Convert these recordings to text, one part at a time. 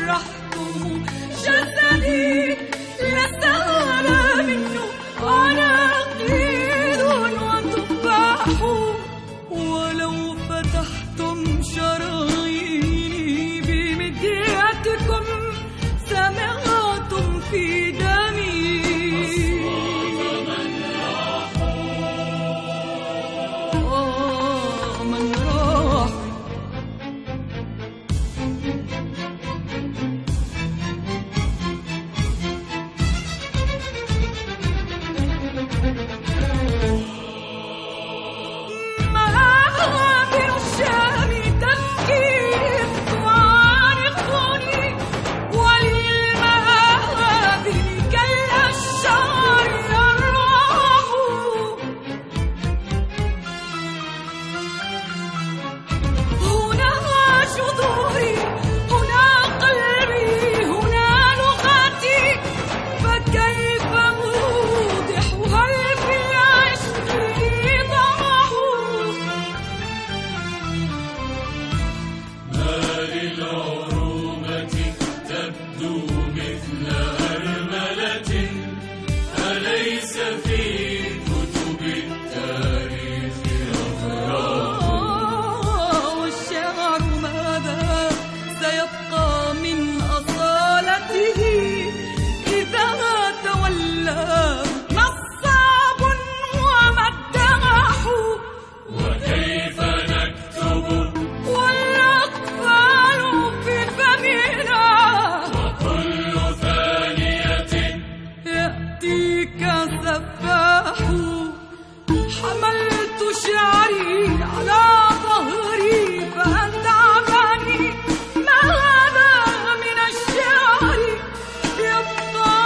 جرحتم جسدي لسال منه عناقيد وتفاح، ولو فتحتم شراييني بمدياتكم سمعتم في دمي من راح. مآبر الشام تبكي تعانقني، وللمآبر كالأشجار الأرواح. هنا جذوري، هنا قلبي، هنا لغتي، فكيف أوضح هل في العشق إيضاح؟ ما للعروبة تبدو مثل أرملة، أليس في كتب التاريخ أفراح؟ والشعر ماذا سيبقى من أصالته إذا تولى نصاب ومداح؟ وكيف نكتب والأطفال في فمنا، وكل ثانية يأتيك سفاح. حملت شعري على ظهري فأنت عباني، ما هذا من الشعر يبقى؟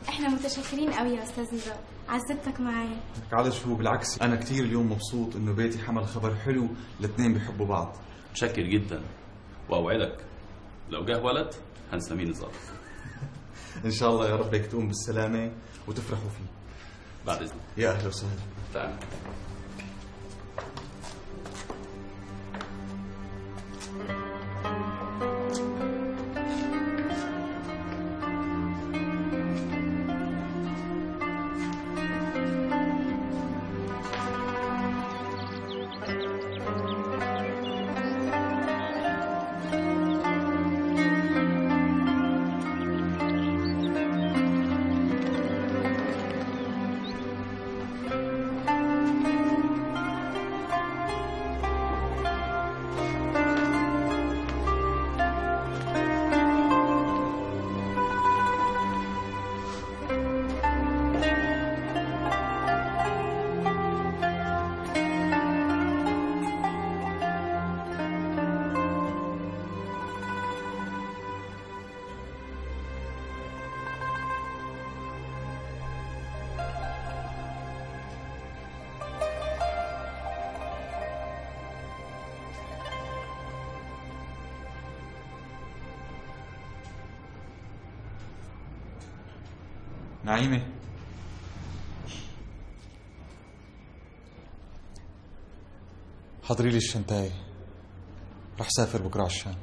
احنا متشكرين قوي يا استاذ نزار، عزبتك معايا. على شو، بالعكس أنا كتير اليوم مبسوط إنه بيتي حمل خبر حلو، الاثنين بيحبوا بعض. متشكر جدا، وأوعدك لو جه ولد هنسميه نزار. إن شاء الله يا رب هيك تقوم بالسلامة وتفرحوا فيه. بعد إذنك. يا أهلا وسهلا. تعال. نعيمة، حضري لي الشنطاية، رح سافر بكرة على الشام.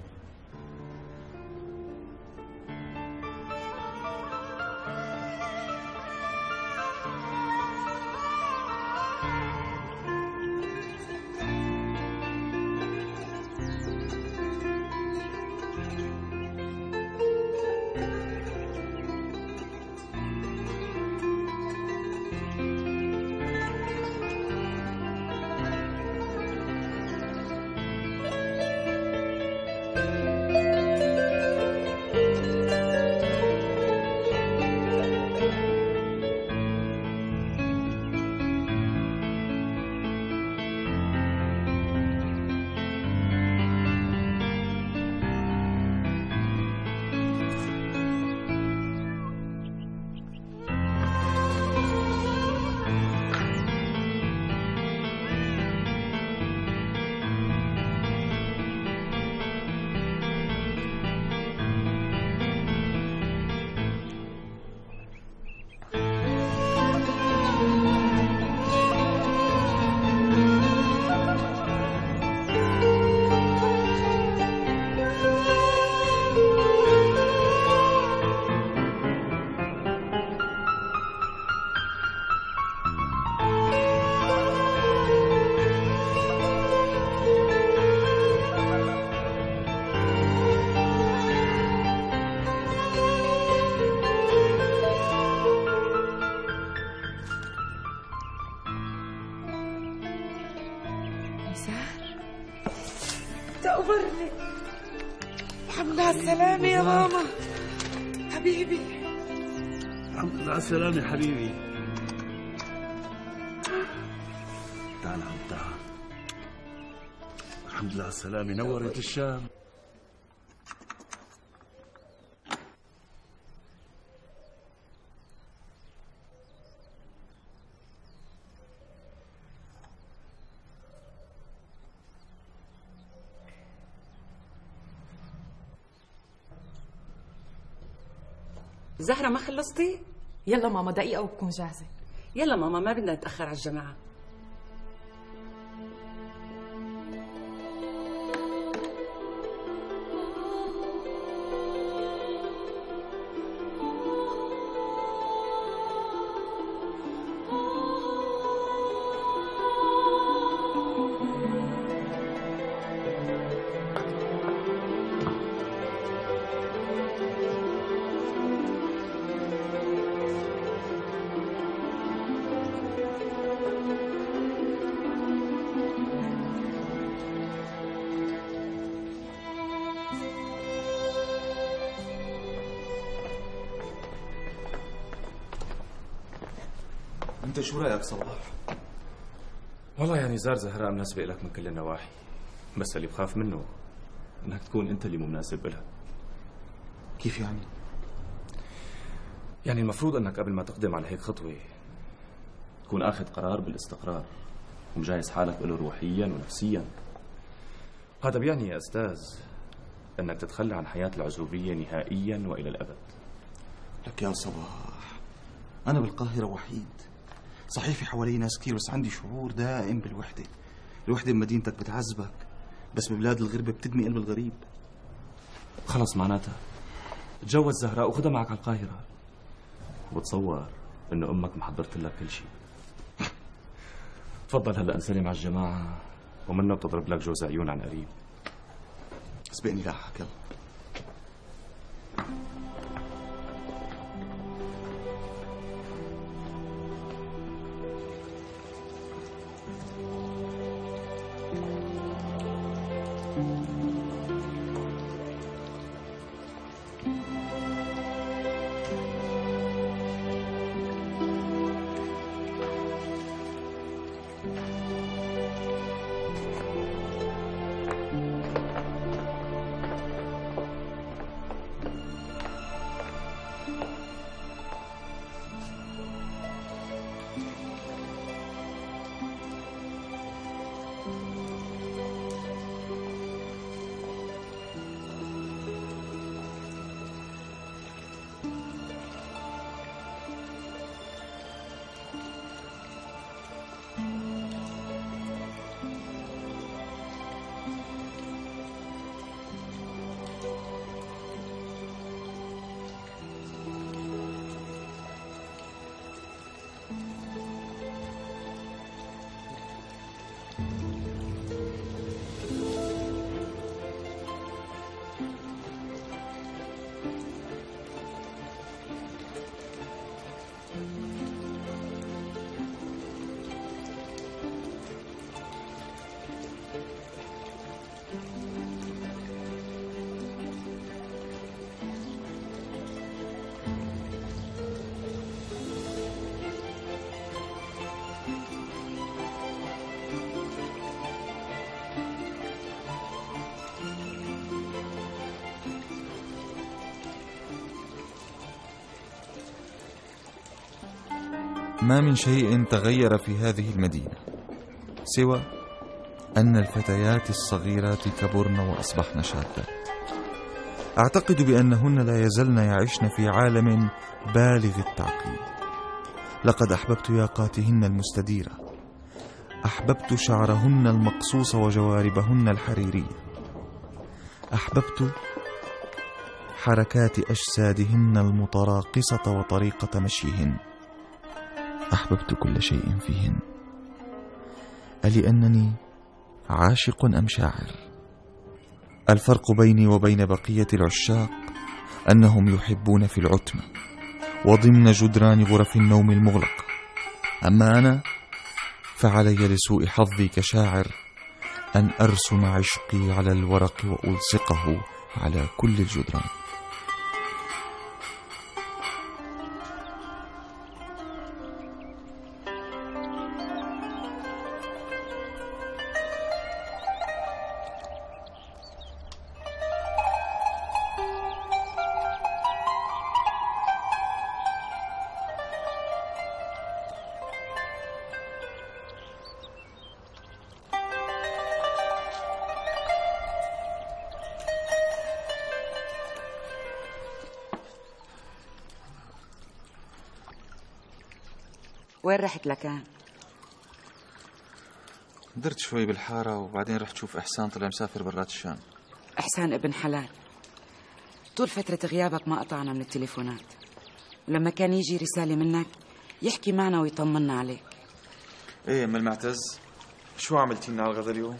زهر تقبرني. الحمد لله على السلامة يا ماما حبيبي. الحمد لله على السلامة حبيبي. تعال عم تعال. الحمد لله على السلامة، نورت الشام. زهرة ما خلصتي؟ يلا ماما دقيقة وبكون جاهزة. يلا ماما ما بدنا نتأخر على الجماعة. انت شو رايك صباح؟ والله يعني زار زهراء مناسبة لك من كل النواحي، بس اللي بخاف منه انك تكون انت اللي مو مناسب لها. كيف يعني؟ يعني المفروض انك قبل ما تقدم على هيك خطوة تكون اخذ قرار بالاستقرار ومجهز حالك له روحيا ونفسيا. هذا بيعني يا استاذ انك تتخلى عن حياة العزوبية نهائيا والى الابد. لك يا صباح، انا بالقاهرة وحيد، صحيح في حوالي ناس كتير، بس عندي شعور دائم بالوحدة. الوحدة بمدينتك بتعذبك، بس ببلاد الغربة بتدمي قلب الغريب. خلص معناتها تجوز زهراء وخدها معك على القاهرة، وبتصور انه امك محضرت لك كل شيء. تفضل هلا انسلم على الجماعة ومنه بتضرب لك جوز عيون عن قريب. اسبقني لاحق يلا. ما من شيء تغير في هذه المدينة سوى أن الفتيات الصغيرات كبرن وأصبحن شابات. أعتقد بأنهن لا يزلن يعيشن في عالم بالغ التعقيد. لقد أحببت ياقاتهن المستديرة، أحببت شعرهن المقصوص وجواربهن الحريرية، أحببت حركات أجسادهن المتراقصة وطريقة مشيهن، أحببت كل شيء فيهن. ألأنني عاشق أم شاعر؟ الفرق بيني وبين بقية العشاق أنهم يحبون في العتمة وضمن جدران غرف النوم المغلقة، أما أنا فعلي لسوء حظي كشاعر أن أرسم عشقي على الورق وألصقه على كل الجدران. وين رحت لكان؟ درت شوي بالحارة وبعدين رحت شوف إحسان، طلع مسافر برات الشام. إحسان ابن حلال، طول فترة غيابك ما قطعنا من التليفونات، ولما كان يجي رسالة منك يحكي معنا ويطمنا عليك. ايه ام المعتز، شو عملتي لنا على الغدا اليوم؟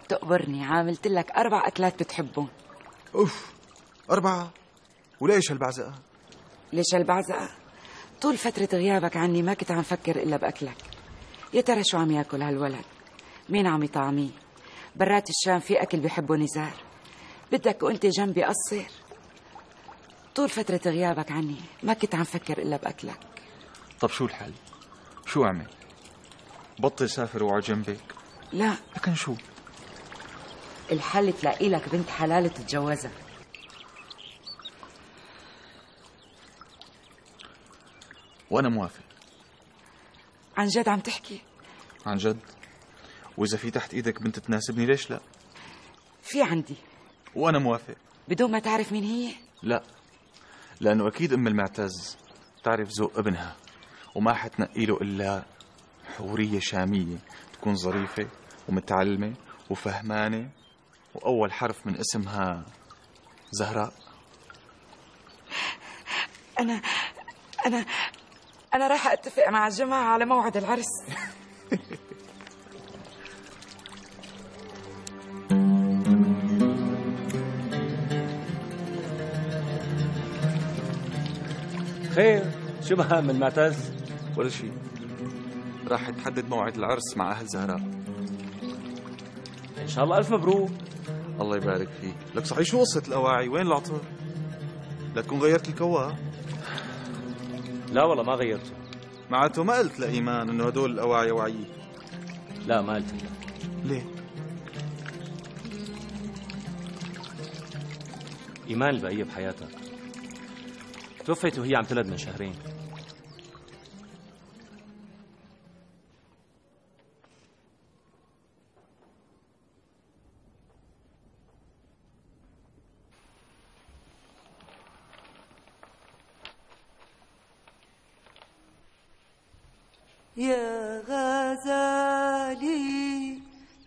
تقبرني، عاملت لك 4 أكلات بتحبهم. اوف، 4؟ وليش هالبعزقة؟ ليش هالبعزقة؟ طول فترة غيابك عني ما كنت عم فكر إلا بأكلك. يا ترى شو عم ياكل هالولد؟ مين عم يطعميه؟ برات الشام في أكل بيحبه نزار، بدك وأنت جنبي قصر. طول فترة غيابك عني ما كنت عم فكر إلا بأكلك. طب شو الحل؟ شو أعمل؟ بطل سافر وعلى جنبك؟ لا. لكن شو؟ الحل تلاقي لك بنت حلال تتجوزها. وأنا موافق. عن جد عم تحكي؟ عن جد. وإذا في تحت إيدك بنت تناسبني ليش لا؟ في عندي. وأنا موافق. بدون ما تعرف مين هي؟ لا، لأنه أكيد أم المعتز تعرف ذوق ابنها، وما حتنقي له إلا حورية شامية تكون ظريفة ومتعلمة وفهمانة، وأول حرف من اسمها زهراء. أنا راح أتفق مع الجماعة على موعد العرس. خير، شو بها من المعتز؟ ولا شيء، راح تحدد موعد العرس مع أهل زهراء. إن شاء الله ألف مبروك. الله يبارك فيك. لك صحيح شو قصة الأواعي؟ وين العطر؟ لا تكون غيرت الكوا؟ لا والله ما غيرته. معناته ما قلت لإيمان إنه هدول الأواعي وعيي؟ لا ما قلت لها. ليه؟ إيمان البقية بحياتها توفيت وهي عم تلد من شهرين. يا غزالي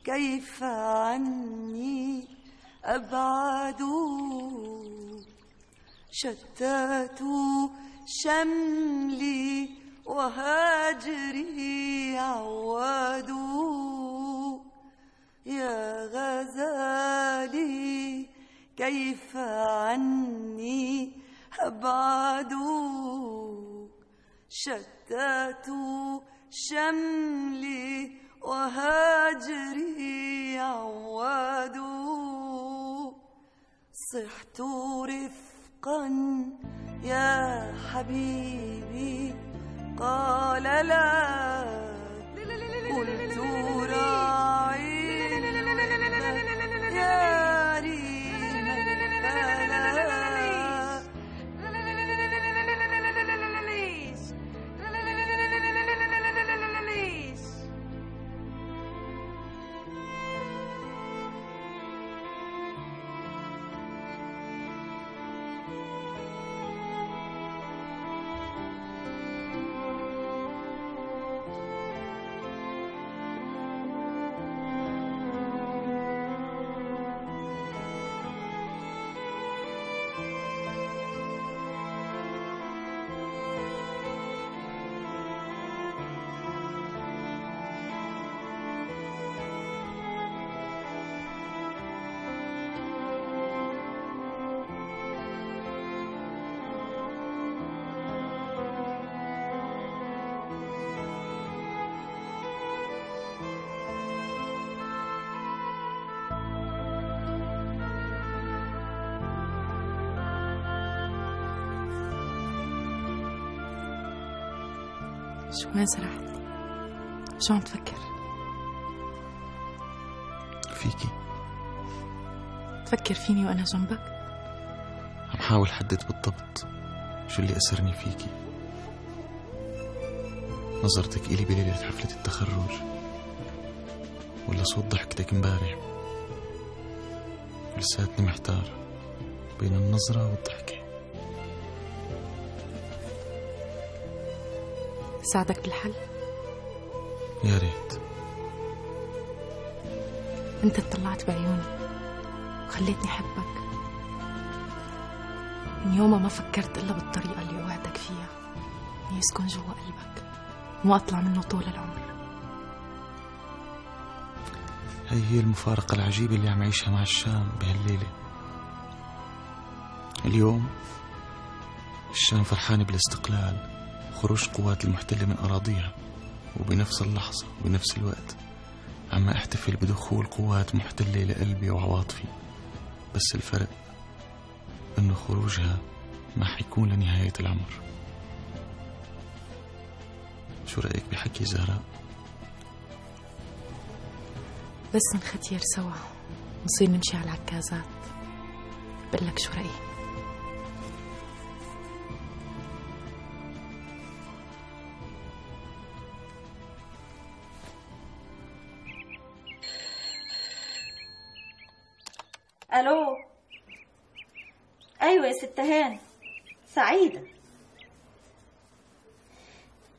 كيف عني أبعد، شتات شملي وهاجري عواد. يا غزالي كيف عني أبعد، شتات شملي وهاجري عواد. صحت رفقا يا حبيبي قال لا، قلت راعي يا ريم البلا. شو وين سرحت؟ شو عم تفكر؟ فيكي. تفكر فيني وأنا جنبك؟ عم حاول حدد بالضبط شو اللي أسرني فيكي. نظرتك إلي بليلة حفلة التخرج، ولا صوت ضحكتك امبارح. لساتني محتار بين النظرة والضحكة. ساعدك بالحل؟ يا ريت. انت اطلعت بعيوني وخليتني حبك. من يومها ما فكرت إلا بالطريقة اللي وعدك فيها، إني يسكن جوا قلبك وما أطلع منه طول العمر. هي المفارقة العجيبة اللي عم عيشها مع الشام بهالليلة. اليوم الشام فرحانة بالاستقلال وخروج قوات المحتلة من أراضيها، وبنفس اللحظة وبنفس الوقت عم احتفل بدخول قوات محتلة لقلبي وعواطفي. بس الفرق إنه خروجها ما حيكون لنهاية العمر. شو رأيك بحكي زهراء؟ بس نختير سوا نصير نمشي على العكازات. بقلك شو رأيي؟ الو. ايوه يا ست هان، سعيدة.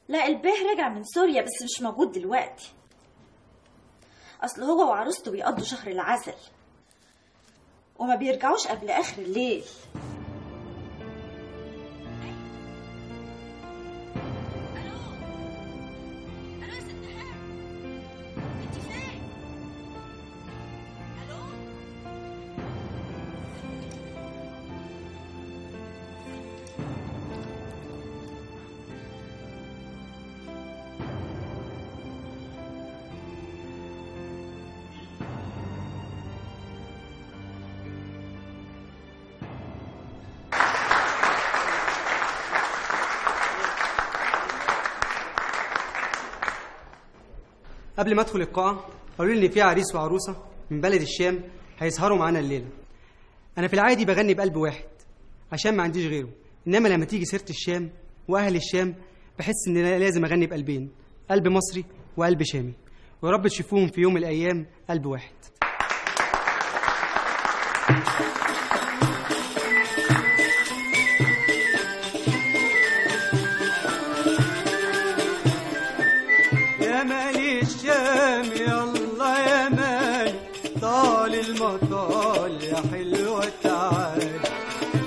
لا البيه رجع من سوريا بس مش موجود دلوقتي. اصل هو وعروسته بيقضوا شهر العسل وما بيرجعوش قبل اخر الليل. قبل ما ادخل القاعة قالوا لي ان في عريس وعروسة من بلد الشام هيسهروا معانا الليلة. انا في العادي بغني بقلب واحد عشان ما عنديش غيره، انما لما تيجي سيرة الشام واهل الشام بحس ان لازم اغني بقلبين، قلب مصري وقلب شامي، ويا رب تشوفوهم في يوم من الايام قلب واحد. يا مالي الشام يلا يا مالي طال المطال يا حلوة تعال.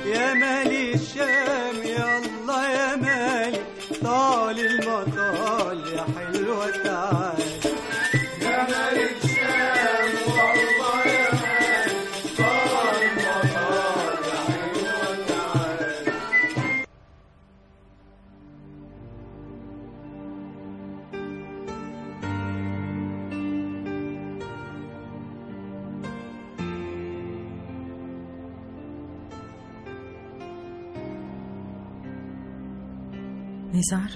يا مالي الشام يلا يا مالي طال المطال يا حلوة تعال. يا مالي الشام والله يا مالي طال المطال يا حلوة تعال. نزار،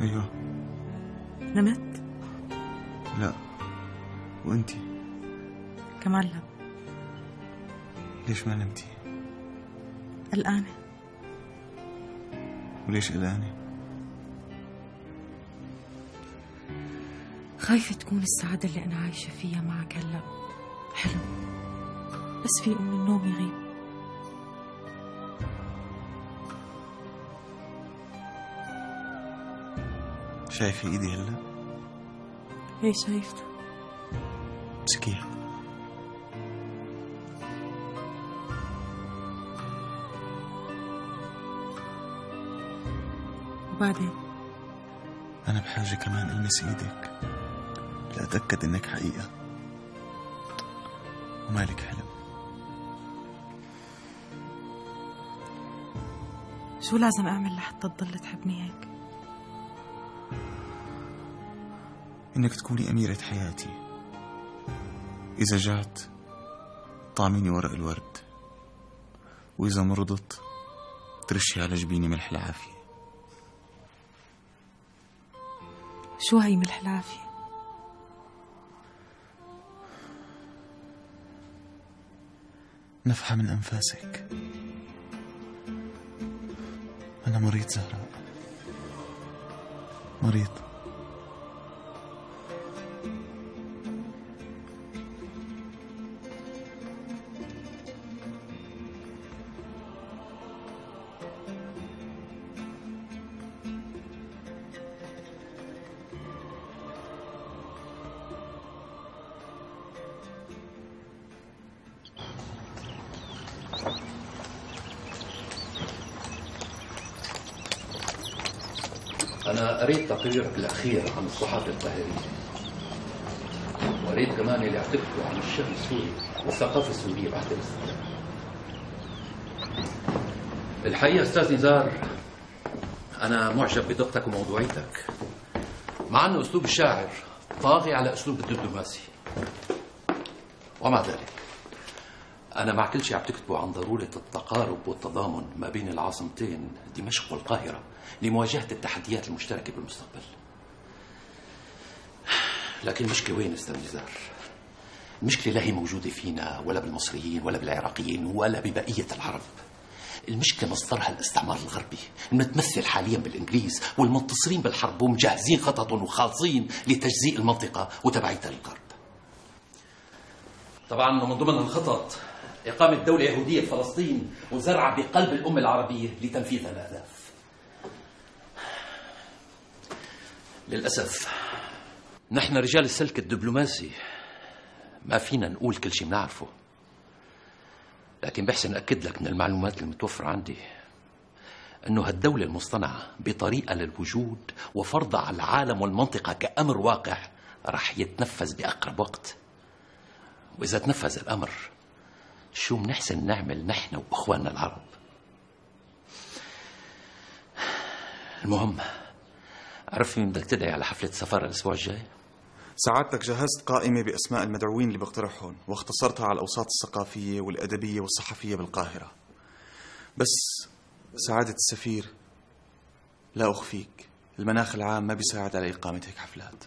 أيوة. نمت؟ لا. وأنتي؟ كمان لا. ليش ما نمتي؟ قلقانة. وليش قلقانة؟ خايفة تكون السعادة اللي أنا عايشة فيها معك هلأ حلو، بس في من النوم يغيب. شايفة إيدي هلا؟ ايه شايفته. امسكيها. وبعدين؟ أنا بحاجة كمان ألمس إيدك لأتأكد إنك حقيقة ومالك حلم. شو لازم أعمل لحتى تضل تحبني هيك؟ إنك تكوني أميرة حياتي. إذا جعت طعميني ورق الورد، وإذا مرضت ترشي على جبيني ملح العافية. شو هي من الحلافة؟ نفحة من أنفاسك. أنا مريض زهراء، مريض. أنا قريت تقريرك الأخير عن الصحافة القاهرية، وقريت كمان اللي عتبته عن الشأن السوري والثقافة السورية بعد الاستقلال. الحقيقة أستاذ نزار، أنا معجب بدقتك وموضوعيتك، مع أنه أسلوب الشاعر طاغي على أسلوب الدبلوماسي. ومع ذلك أنا مع كل شيء عم تكتبه عن ضرورة التقارب والتضامن ما بين العاصمتين دمشق والقاهرة لمواجهة التحديات المشتركة بالمستقبل. لكن المشكلة وين أستاذ نزار؟ المشكلة لا هي موجودة فينا ولا بالمصريين ولا بالعراقيين ولا ببقية العرب. المشكلة مصدرها الاستعمار الغربي المتمثل حاليا بالإنجليز والمنتصرين بالحرب ومجهزين خطط وخاصين لتجزيء المنطقة وتبعيتها للغرب. طبعا من ضمن الخطط إقامة دولة يهودية في فلسطين وزرعها بقلب الأمة العربية لتنفيذ الأهداف. للأسف نحن رجال السلك الدبلوماسي ما فينا نقول كل شيء بنعرفه، لكن بحسن أكد لك من المعلومات المتوفرة عندي أنه هالدولة المصطنعة بطريقة للوجود وفرضها على العالم والمنطقة كأمر واقع رح يتنفذ بأقرب وقت. وإذا تنفذ الأمر شو منحسن نعمل نحن وإخواننا العرب؟ المهم، عرف مين بدك تدعي على حفلة السفارة الأسبوع الجاي؟ سعادتك جهزت قائمة بأسماء المدعوين اللي بقترحهم واختصرتها على الأوساط الثقافية والأدبية والصحفية بالقاهرة. بس سعادة السفير، لا أخفيك، المناخ العام ما بيساعد على إقامة هيك حفلات.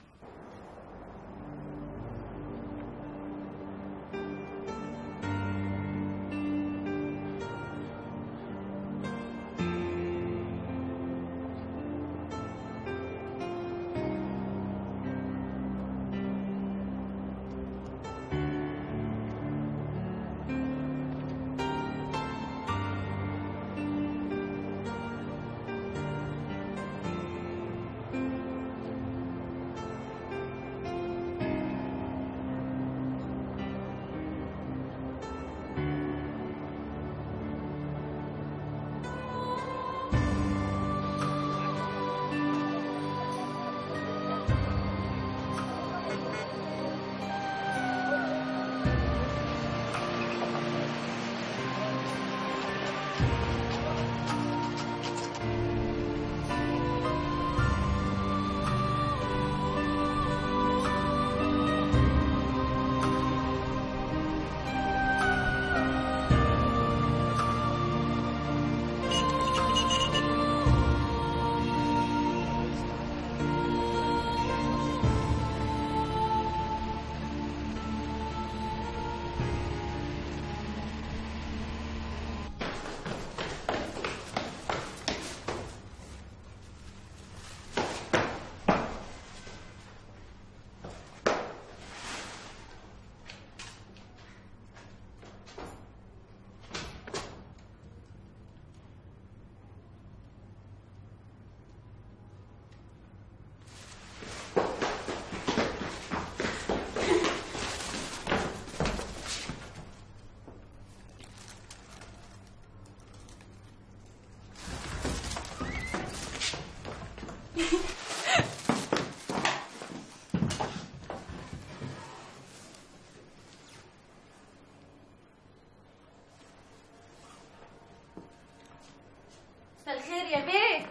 مساء الخير يا بيه.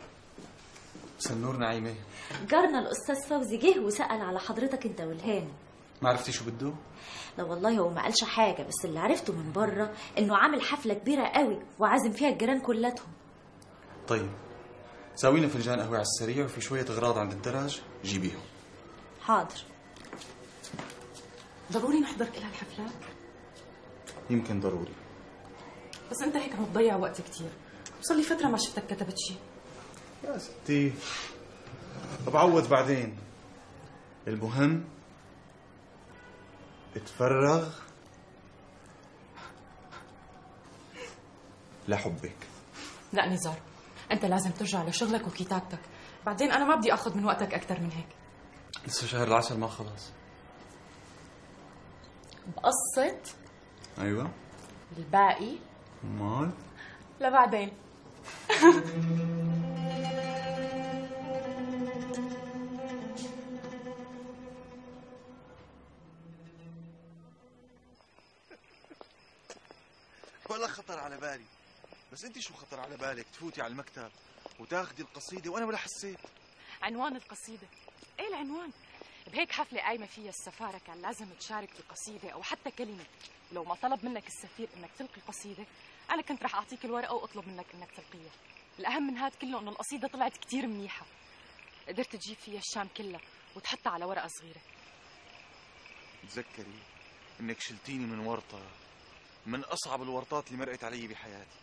مساء النور نعيمة. جارنا الأستاذ فوزي جه وسأل على حضرتك أنت والهانم. ما عرفتي شو بده؟ لا والله هو ما قالش حاجة، بس اللي عرفته من بره إنه عامل حفلة كبيرة قوي وعازم فيها الجيران كلاتهم. طيب ساوينا فنجان قهوة على السريع وفي شوية أغراض عند الدرج جيبيهم. حاضر. ضروري نحضر كل هالحفلات؟ يمكن ضروري. بس انت هيك عم تضيع وقت كتير، وصار لي فترة ما شفتك كتبت شيء. يا ستي بعوض بعدين. المهم اتفرغ لحبك. لا نزار، انت لازم ترجع لشغلك وكتابتك، بعدين انا ما بدي اخذ من وقتك اكثر من هيك. لسه شهر العسل ما خلص. بقصة ايوه الباقي مال لبعدين. ولا خطر على بالي. بس انت شو خطر على بالك تفوتي على المكتب وتاخدي القصيدة وانا ولا حسيت؟ عنوان القصيدة؟ ايه العنوان؟ بهيك حفلة قايمة فيها السفارة كان لازم تشارك بقصيدة أو حتى كلمة. ولو ما طلب منك السفير إنك تلقي قصيدة، أنا كنت رح أعطيك الورقة وأطلب منك إنك تلقيها. الأهم من هاد كله إنه القصيدة طلعت كتير منيحة، قدرت تجيب فيها الشام كلها وتحطها على ورقة صغيرة. تذكري إنك شلتيني من ورطة من أصعب الورطات اللي مرقت علي بحياتي.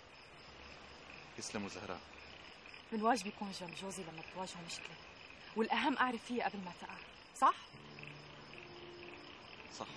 تسلموا زهراء. من واجبي يكون جنب جوزي لما تواجهه مشكلة، والأهم أعرف فيها قبل ما تقع، صح؟ صح.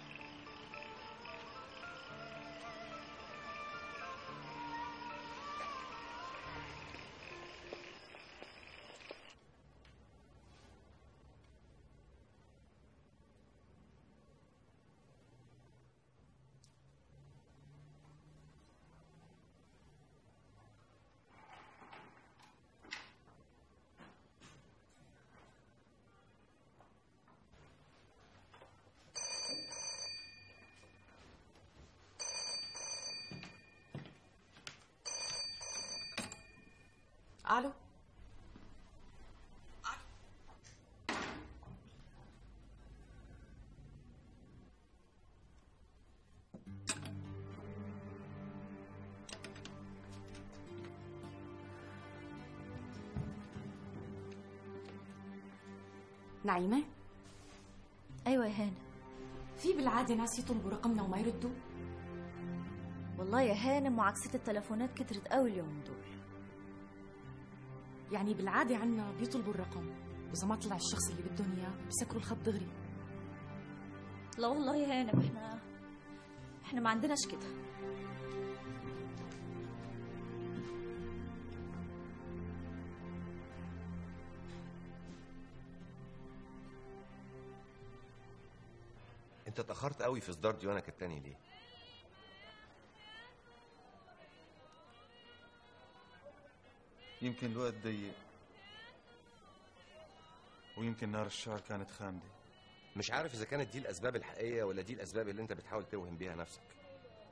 ألو. نعيمة؟ ايوه يا هانة. في بالعادة ناس يطلبوا رقمنا وما يردوا؟ والله يا هانة معاكسة التلفونات كترت قوي اليوم دول. يعني بالعادة عنا بيطلبوا الرقم، وإذا ما طلع الشخص اللي بدهم إياه بيسكروا الخط دغري. لا والله يا هانة، احنا ما عندناش كده. انت اتأخرت قوي في اصدار ديوانك التاني ليه؟ يمكن الوقت ضيق، ويمكن نار الشعر كانت خامدة. مش عارف اذا كانت دي الاسباب الحقيقية ولا دي الاسباب اللي انت بتحاول توهم بيها نفسك.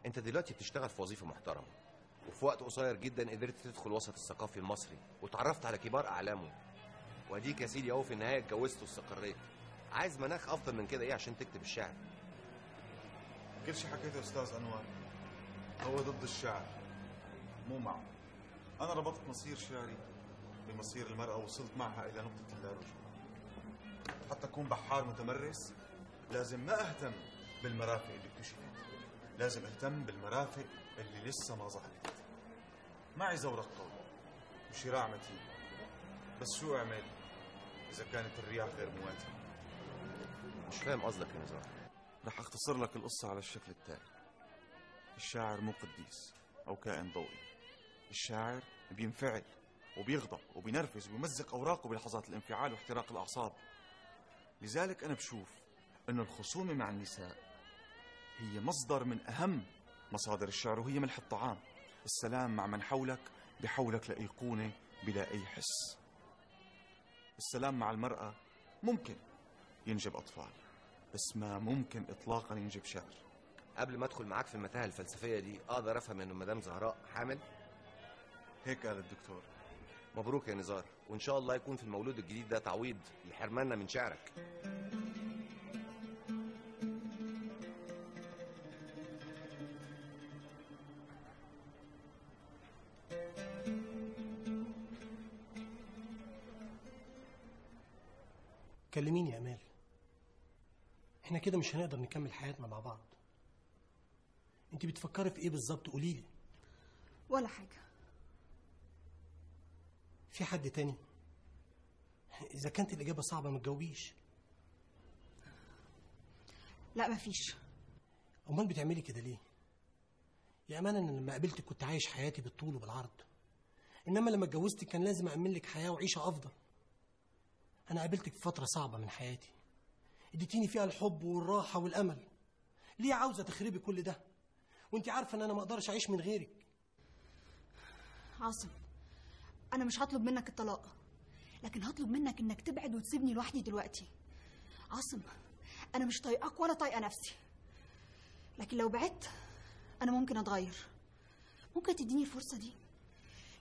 انت دلوقتي بتشتغل في وظيفة محترمة، وفي وقت قصير جدا قدرت تدخل وسط الثقافي المصري وتعرفت على كبار اعلامه، واديك يا سيدي اهو في النهاية اتجوزت واستقريت. عايز مناخ افضل من كده ايه عشان تكتب الشعر؟ كل شيء حكيته استاذ انور هو ضد الشعر، مو معه. انا ربطت مصير شعري بمصير المرأة ووصلت معها الى نقطة اللا-رجوع. حتى اكون بحار متمرس لازم ما اهتم بالمرافق اللي اكتشفت، لازم اهتم بالمرافق اللي لسه ما ظهرت. معي زورق قوي وشراع متين، بس شو اعمل اذا كانت الرياح غير مواتية؟ مش فاهم قصدك يا نزار. رح اختصر لك القصة على الشكل التالي. الشاعر مو قديس او كائن ضوئي. الشاعر بينفعل وبيغضب وبينرفز وبيمزق اوراقه بلحظات الانفعال واحتراق الاعصاب. لذلك انا بشوف انه الخصومة مع النساء هي مصدر من اهم مصادر الشعر، وهي ملح الطعام. السلام مع من حولك بحولك لأيقونة بلا اي حس. السلام مع المرأة ممكن ينجب اطفال، بس ما ممكن اطلاقا ينجب شعر. قبل ما ادخل معاك في المتاهه الفلسفيه دي اقدر افهم ان مدام زهراء حامل؟ هيك قال الدكتور. مبروك يا نزار، وان شاء الله يكون في المولود الجديد ده تعويض لحرماننا من شعرك. كلميني يا امال. احنا كده مش هنقدر نكمل حياتنا مع بعض. انت بتفكري في ايه بالظبط؟ قوليلي. ولا حاجة. في حد تاني؟ اذا كانت الاجابة صعبة ما تجاوبيش. لا مفيش. امال بتعملي كده ليه؟ يا امانه انا لما قابلتك كنت عايش حياتي بالطول وبالعرض، انما لما اتجوزتك كان لازم أأمن لك حياه وعيشه افضل. انا قابلتك في فتره صعبه من حياتي اديتيني فيها الحب والراحه والامل. ليه عاوزه تخربي كل ده وانت عارفه ان انا ما اقدرش اعيش من غيرك؟ عاصم، انا مش هطلب منك الطلاق، لكن هطلب منك انك تبعد وتسيبني لوحدي دلوقتي. عاصم، انا مش طايقاك ولا طايقه نفسي، لكن لو بعدت انا ممكن اتغير. ممكن تديني الفرصه دي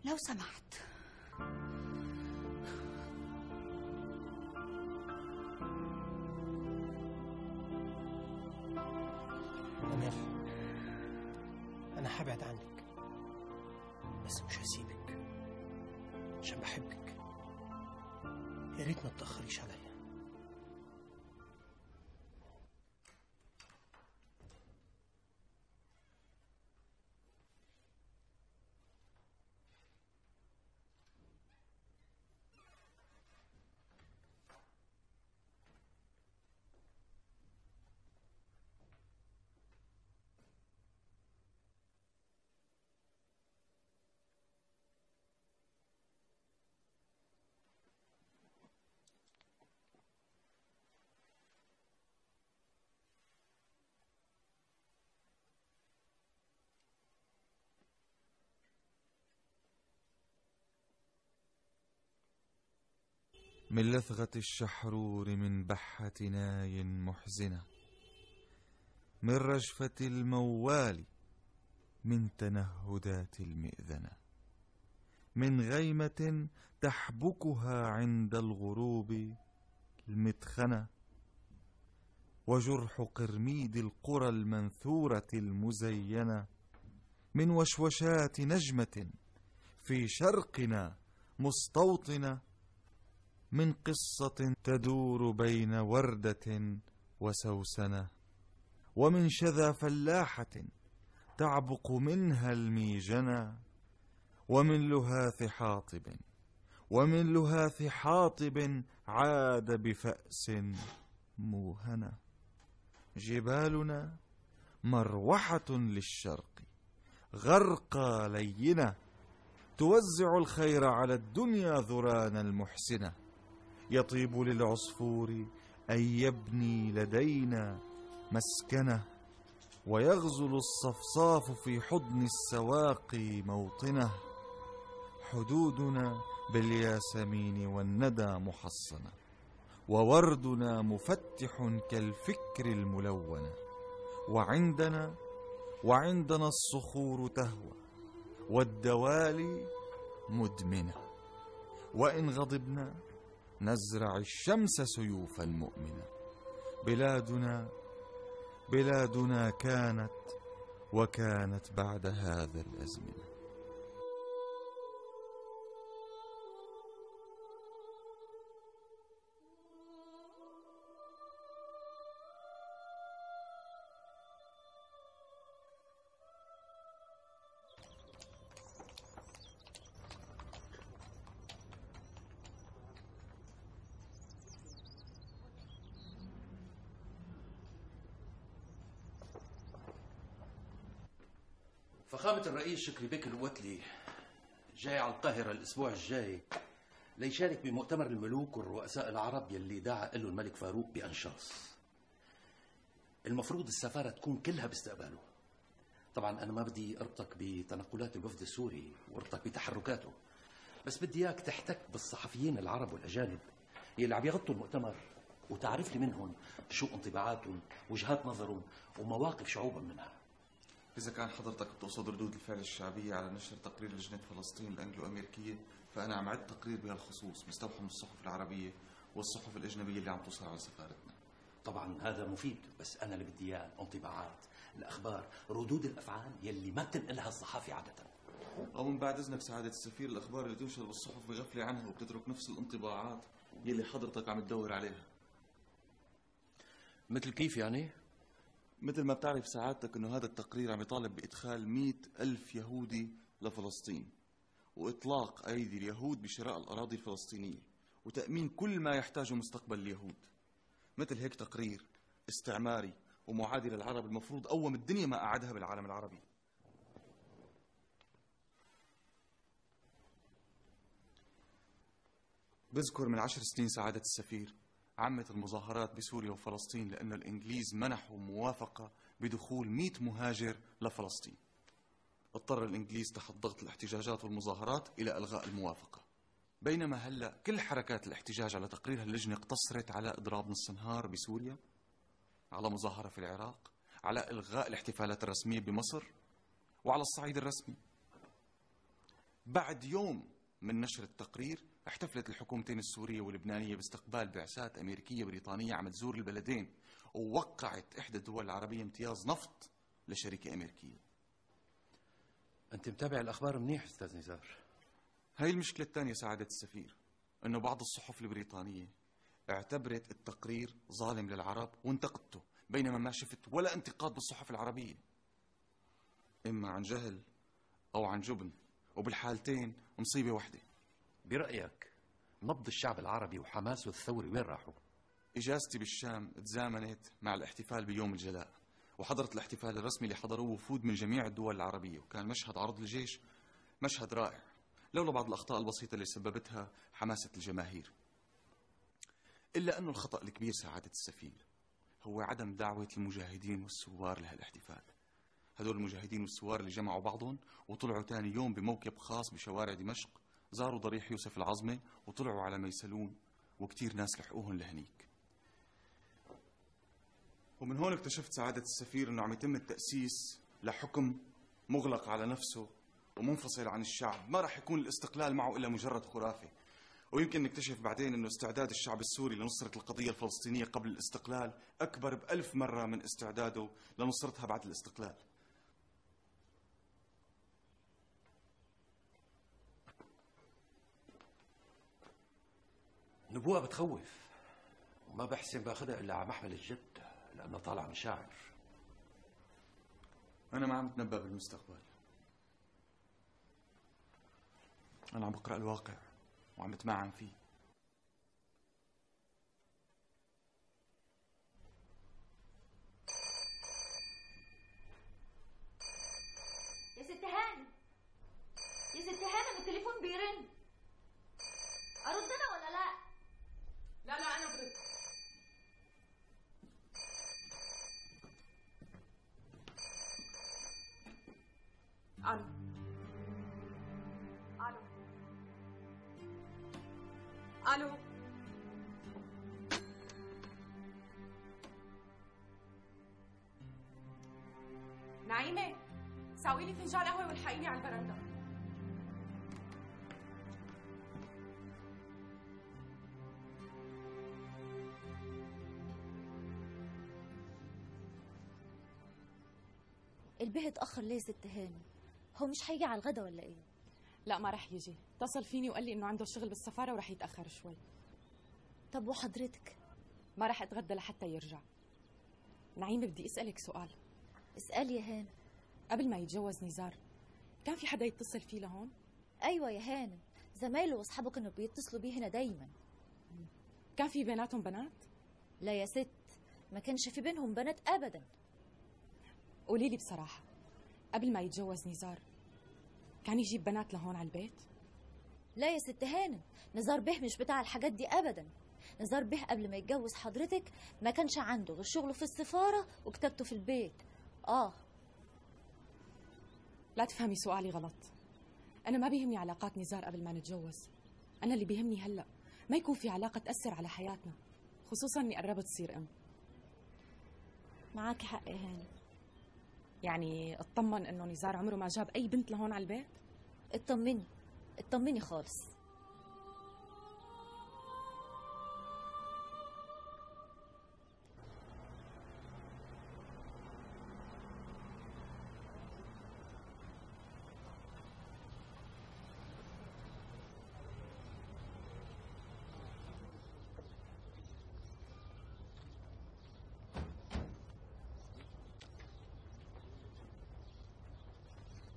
لو سمحت؟ أمال، أنا هبعد عنك بس مش هسيبك عشان بحبك. يا ريت ما تتأخريش عليا. من لثغة الشحرور من بحة ناي محزنة، من رجفة الموال من تنهدات المئذنة، من غيمة تحبكها عند الغروب المدخنة، وجرح قرميد القرى المنثورة المزينة، من وشوشات نجمة في شرقنا مستوطنة، من قصة تدور بين وردة وسوسنة، ومن شذا فلاحة تعبق منها الميجنة، ومن لهاث حاطب، ومن لهاث حاطب عاد بفأس موهنة. جبالنا مروحة للشرق غرقى لينة، توزع الخير على الدنيا ذران المحسنة. يطيب للعصفور أن يبني لدينا مسكنة، ويغزل الصفصاف في حضن السواقي موطنه. حدودنا بالياسمين والندى محصنة، ووردنا مفتح كالفكر الملونة. وعندنا الصخور تهوى والدوالي مدمنة، وإن غضبنا نزرع الشمس سيوفا مؤمنة. بلادنا كانت وكانت بعد هذا الأزمنة. فخامة الرئيس شكري بك الوتلي جاي على القاهرة الأسبوع الجاي ليشارك بمؤتمر الملوك والرؤساء العرب يلي دعا له الملك فاروق بأنشاص. المفروض السفارة تكون كلها باستقباله. طبعا أنا ما بدي أربطك بتنقلات الوفد السوري وأربطك بتحركاته، بس بدي إياك تحتك بالصحفيين العرب والأجانب يلي عم يغطوا المؤتمر وتعرف لي منهم شو انطباعاتهم، وجهات نظرهم، ومواقف شعوبهم منها. إذا كان حضرتك بتقصد ردود الفعل الشعبية على نشر تقرير لجنة فلسطين الأنجلو أمريكية، فأنا عم عد تقرير بهالخصوص مستوحى من الصحف العربية والصحف الأجنبية اللي عم توصل على سفارتنا. طبعا هذا مفيد، بس أنا اللي بدي إياه الانطباعات، الأخبار، ردود الأفعال يلي ما بتنقلها الصحافي عادة. أو من بعد إذنك سعادة السفير، الأخبار اللي تنشر بالصحف بغفلة عنها وبتترك نفس الانطباعات يلي حضرتك عم تدور عليها. مثل كيف يعني؟ مثل ما بتعرف سعادتك انه هذا التقرير عم يطالب بإدخال 100,000 يهودي لفلسطين، وإطلاق أيدي اليهود بشراء الأراضي الفلسطينية، وتأمين كل ما يحتاجه مستقبل اليهود. مثل هيك تقرير استعماري ومعادي للعرب المفروض أوم الدنيا ما أعادها بالعالم العربي. بذكر من 10 سنين سعادة السفير عمت المظاهرات بسوريا وفلسطين لأن الإنجليز منحوا موافقة بدخول 100 مهاجر لفلسطين. اضطر الإنجليز تحت ضغط الاحتجاجات والمظاهرات إلى إلغاء الموافقة. بينما هلأ كل حركات الاحتجاج على تقرير اللجنة اقتصرت على إضراب نص نهار بسوريا، على مظاهرة في العراق، على إلغاء الاحتفالات الرسمية بمصر، وعلى الصعيد الرسمي. بعد يوم من نشر التقرير احتفلت الحكومتين السورية واللبنانية باستقبال بعثات أمريكية بريطانية عم تزور البلدين، ووقعت إحدى الدول العربية امتياز نفط لشركة أمريكية. أنت متابع الأخبار منيح أستاذ نزار. هاي المشكلة الثانية سعادة السفير، أنه بعض الصحف البريطانية اعتبرت التقرير ظالم للعرب وانتقدته، بينما ما شفت ولا انتقاد بالصحف العربية، إما عن جهل أو عن جبن، وبالحالتين مصيبة واحدة. برأيك نبض الشعب العربي وحماسه الثوري وين راحوا؟ إجازتي بالشام تزامنت مع الاحتفال بيوم الجلاء، وحضرت الاحتفال الرسمي اللي حضروه وفود من جميع الدول العربية، وكان مشهد عرض الجيش مشهد رائع، لولا بعض الأخطاء البسيطة اللي سببتها حماسة الجماهير. إلا أنه الخطأ الكبير سعادة السفير هو عدم دعوة المجاهدين والثوار لهالاحتفال. هدول المجاهدين والثوار اللي جمعوا بعضهم وطلعوا تاني يوم بموكب خاص بشوارع دمشق، زاروا ضريح يوسف العظمة وطلعوا على ميسلون، وكتير ناس لحقوهم لهنيك. ومن هون اكتشفت سعادة السفير انه عم يتم التأسيس لحكم مغلق على نفسه ومنفصل عن الشعب، ما راح يكون الاستقلال معه الا مجرد خرافة. ويمكن نكتشف بعدين انه استعداد الشعب السوري لنصرة القضية الفلسطينية قبل الاستقلال اكبر ب1000 مرة من استعداده لنصرتها بعد الاستقلال. نبوءة بتخوف، وما بحسن باخدها الا على محمل الجد لانه طالع من شاعر. انا ما عم اتنبأ بالمستقبل، انا عم بقرأ الواقع وعم بتمعن فيه. يا ست هانم، يا ست هانم التليفون بيرن، ارد انا ولا لا؟ لا انا برد. الو الو الو. نعيمة، ساوي لي فنجان قهوة والحقيني على البرندة. البيه اتأخر ليه ست هاني؟ هو مش هيجي على الغدا ولا ايه؟ لا ما رح يجي، اتصل فيني وقال لي انه عنده شغل بالسفارة ورح يتأخر شوي. طب وحضرتك؟ ما رح اتغدى لحتى يرجع. نعيمة بدي اسألك سؤال. اسألي يا هانم. قبل ما يتجوز نزار كان في حدا يتصل فيه لهون؟ ايوه يا هانم، زمايله واصحابه كانوا بيتصلوا بيه هنا دايما. كان في بيناتهم بنات؟ لا يا ست، ما كانش في بينهم بنات ابدا. قولي لي بصراحة، قبل ما يتجوز نزار كان يجيب بنات لهون على البيت؟ لا يا ست هانم، نزار بيه مش بتاع الحاجات دي ابدا. نزار بيه قبل ما يتجوز حضرتك ما كانش عنده غير شغله في السفارة وكتابته في البيت. لا تفهمي سؤالي غلط، أنا ما بيهمني علاقات نزار قبل ما نتجوز. أنا اللي بيهمني هلأ ما يكون في علاقة تأثر على حياتنا، خصوصا إني قربت تصير أم. معاكي حق يا هانم. يعني اطمن إنه نزار عمره ما جاب أي بنت لهون على البيت؟ اطمني، اطمني خالص.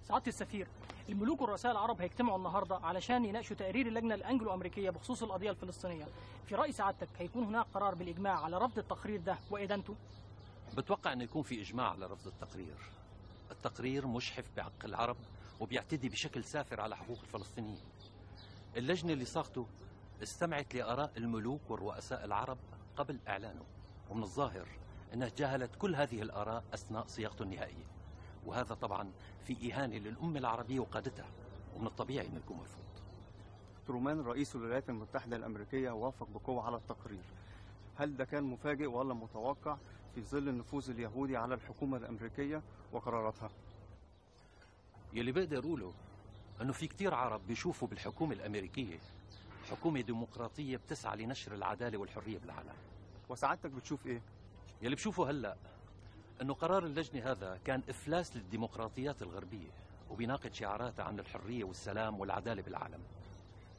سعادة السفير، الملوك والرؤساء العرب هيجتمعوا النهارده علشان يناقشوا تقرير اللجنة الأنجلو أمريكية بخصوص القضية الفلسطينية. في رأي سعادتك هيكون هناك قرار بالإجماع على رفض التقرير ده وإدانته؟ بتوقع أن يكون في إجماع على رفض التقرير. التقرير مشحف بحق العرب وبيعتدي بشكل سافر على حقوق الفلسطينيين. اللجنة اللي صاغته استمعت لآراء الملوك والرؤساء العرب قبل إعلانه، ومن الظاهر أنها تجاهلت كل هذه الآراء أثناء صياغته النهائية، وهذا طبعا في إهانة للأمة العربية وقادتها، ومن الطبيعي أنه يكون مرفوض. ترومان رئيس الولايات المتحدة الأمريكية وافق بقوة على التقرير. هل ده كان مفاجئ ولا متوقع في ظل النفوذ اليهودي على الحكومة الأمريكية وقراراتها؟ يلي بقدر أقوله أنه في كتير عرب بيشوفوا بالحكومة الأمريكية حكومة ديمقراطية بتسعى لنشر العدالة والحرية بالعالم. وسعادتك بتشوف إيه؟ يلي بشوفه هلأ أنه قرار اللجنة هذا كان إفلاس للديمقراطيات الغربية وبيناقض شعاراتها عن الحرية والسلام والعدالة بالعالم.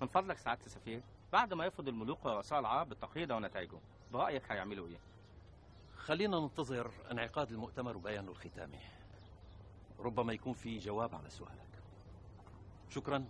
من فضلك سعادة السفير، بعد ما يفرض الملوك ورؤساء العرب بالتقرير ده ونتائجه، برأيك هيعملوا إيه؟ خلينا ننتظر انعقاد المؤتمر وبيانه الختامي. ربما يكون في جواب على سؤالك. شكرا.